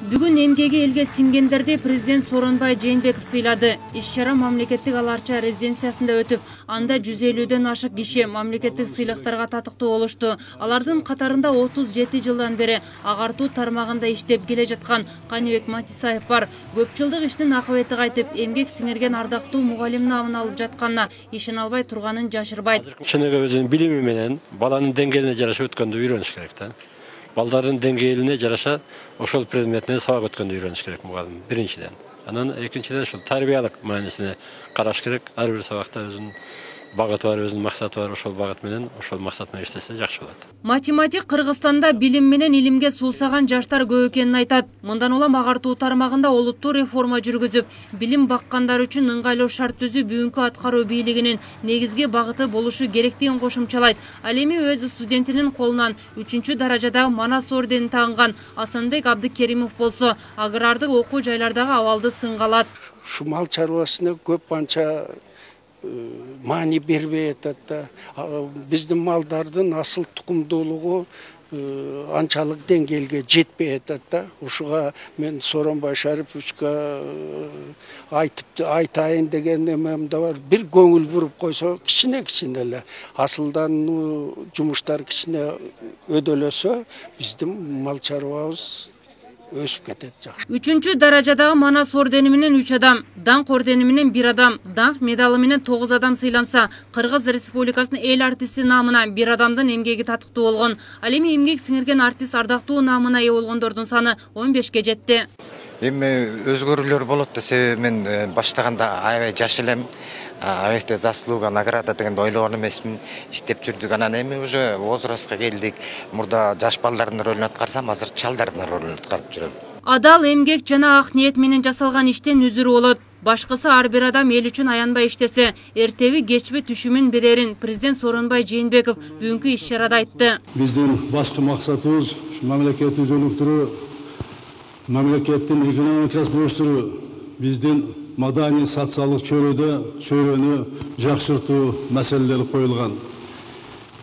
Бүгүн эмгеги элге сиңгендерди президент Сооронбай Жээнбеков сыйлады. Иш-чара мамлекеттик аларча резиденциясында өтүп, анда 150ден ашык киши мамлекеттик сыйлыктарга татыктуу болушту. Алардын катарында 37 жылдан бери агартуу тармагында иштеп келе жаткан Каныбек Матисаев бар. Көп жылдык иштин акыбети кайтып, эмгек сиңирген ардактуу мугалим намын алып жатканына ишене албай турганын жашырбайт. Чыныгы өзүнүн билими менен баланын деңгээлине жараша өткөндү үйрөнүш керек да. Балдардын деңгээлине жараша ошол предметинен сабак өткөндү үйрөнүш керек мугалим биринчиден. Анан экинчиден ошол тарбиялык маанисине караш керек. Ар бир сабакта өзүнүн багыты бар, өзүнүн максаты бар. Ошол багыт менен, ошол максат менен иштесе жакшы болот. Математик Кыргызстанда билим менен илимге суусаган жаштар көп экенин айтат. Мындан улам агартуу тармагында олуттуу реформа жүргүзүп, билим баккандар үчүн ыңгайлуу шарт түзүү бүгүнкү аткаруу бийлигинин негизги багыты болушу керектигин кошумчалайт. Ал эми өз студентинин колунан 3-даражадагы Манас орденин тагынган Асанбек Абдыкеримов болсо, агрардык окуу жайлардагы абалды сынга алат. Ушу мал чарбасына көп анча маани бербей атат да. Биздин малдардын асыл тукумдуулугу анчалык деңгээлге жетпей атат да. Ушуга мен Сооронбай Шариповичке айтайын деген эмем да бар. Бир көңүл буруп койсо, кичине эле асылдануу жумуштар кичине өдөлөсө, биздин мал чарбабыз өсүп кетет жакшы. 3-даражадагы Манас ордени менен 3 адам, Даңк ордени менен 1 адам, Даңк медалы менен 9 адам сыйланса, Кыргыз Республикасынын эл артисти намына 1 адамдын эмгеги татыктуу болгон. Ал эми эмгек сиңирген артист ардактуу намына ээ болгондордун саны 15ке жетти. Эми өзгөрүүлөр болот десе, мен баштаганда аябай жаш элем. Аябай заслуга награда дегенди ойлогон эмесмин, иштеп жүрдүк. Анан эми уже возрастка келдик. Мурда жаш балдардын ролун аткарсам, азыр чалдардын ролун аткарып жүрөм. Адал эмгек жана ак ниет менен жасалган иштен үзүрү болот. Башкысы ар бир адам эл үчүн аянбай иштесе, эртеби кечби түшүмүн берерин президент Сооронбай Жээнбеков бүгүнкү иш-чарада айтты. Биздин башкы максатыбыз мамлекетти өнүктүрүү, мамлекеттин экономикасын өстүрүү, биздин маданий социалдык чөйрөнү жакшыртуу маселелери коюлган.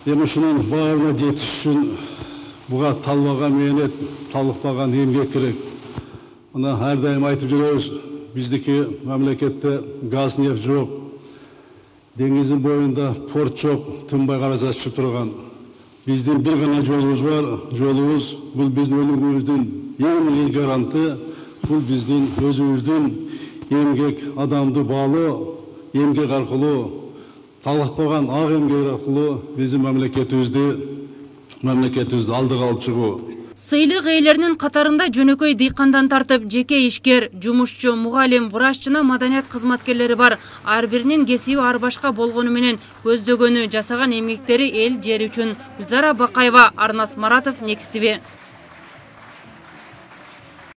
Эми ушунун баарына жетиш үчүн буга талбаган мээнет, талыкпаган эмгек керек. Мына ар дайым айтып жүрөбүз, биздики мамлекетте газ, нефть жок, деңиздин боюнда порт жок, тынбай кара чыгып турган. Биздин бир гана жолубуз бар. Жолубуз бул биздин өнүгүүбүздүн эң эле гаранты, бул биздин өзүбүздүн эмгек адамды баалоо, эмгек аркылуу, талыкпаган ак эмгек аркылуу биздин мамлекетибизди алдыга алып чыгуу. Сыйлык ээлеринин катарында жөнөкөй дыйкандан тартып жеке ишкер, жумушчу, мугалим, врач жана маданият кызматкерлери бар. Ар биринин кесиби ар башка болгону менен көздөгөнү, жасаган эмгектери эл жери үчүн. Гүлзара Бакаева, Арнас Маратов, Next TV.